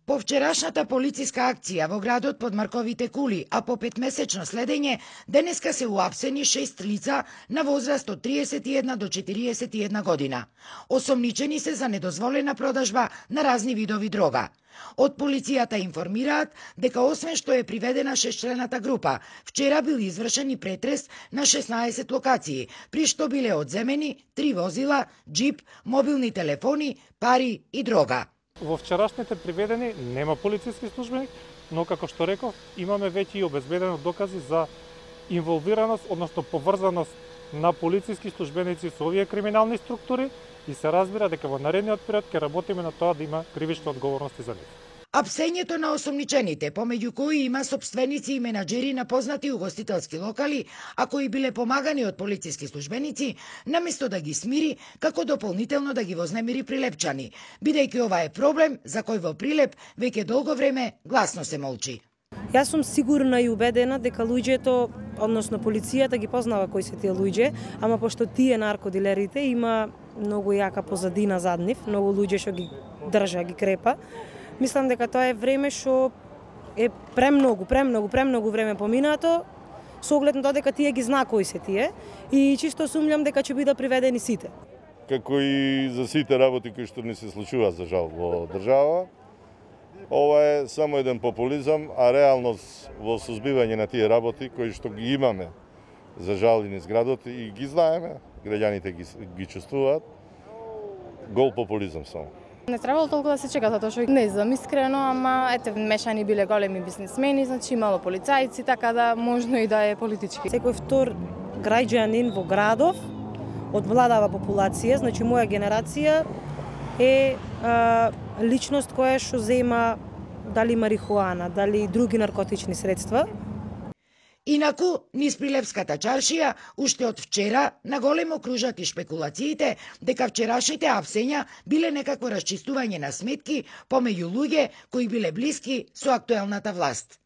По вчерашната полициска акција во градот под Марковите кули, а по 5-месечно следење, денеска се уапсени 6 лица на возраст од 31 до 41 година. Осомничени се за недозволена продажба на разни видови дрога. Од полицијата информираат дека освен што е приведена 6-члената група, вчера бил извршен и претрес на 16 локации, при што биле одземени 3 возила, джип, мобилни телефони, пари и дрога. Во вчерашните приведени нема полициски службеник, но како што реков, имаме веќе и обезбедено докази за инволвираност, односно поврзаност на полициски службеници со овие криминални структури и се разбира дека во наредниот период ќе работиме на тоа да има кривични одговорности за нив. Апсењето на осомничените, помеѓу кои има сопственици и менаџери на познати угостителски локали, а кои биле помагани од полициски службеници, наместо да ги смири, како дополнително да ги вознемири Прилепчани, бидејќи ова е проблем за кој во Прилеп веќе долго време гласно се молчи. Јас сум сигурна и убедена дека луѓето, односно полицијата ги познава кои се тие луѓе, ама пошто тие наркодилерите има многу јака позадина зад нив, многу луѓе што ги држа, ги крепа. Мислам дека тоа е време што е премногу време поминато, со оглед на тоа дека тие ги знаа кои се тие и чисто сумњам дека ќе бидат приведени сите. Како и за сите работи кои што не се случуваат за жал во држава, ова е само еден популизам, а реалност во сузбивање на тие работи кои што ги имаме за жал и низ градот и ги знаеме, граѓаните ги чувствуваат, гол популизам само. Не требало толку да се чека, затоа што не знам искрено, ама ете мешани биле големи бизнисмени, значи имало полицајци, така да можно и да е политички. Секој втор граѓанин во градов од младава популација, значи моја генерација е личност која што зема дали марихуана, дали други наркотични средства. Инаку, низ Прилепската чаршија, уште од вчера, наголемо кружат и шпекулациите дека вчерашните апсења биле некакво расчистување на сметки помеѓу луѓе кои биле блиски со актуелната власт.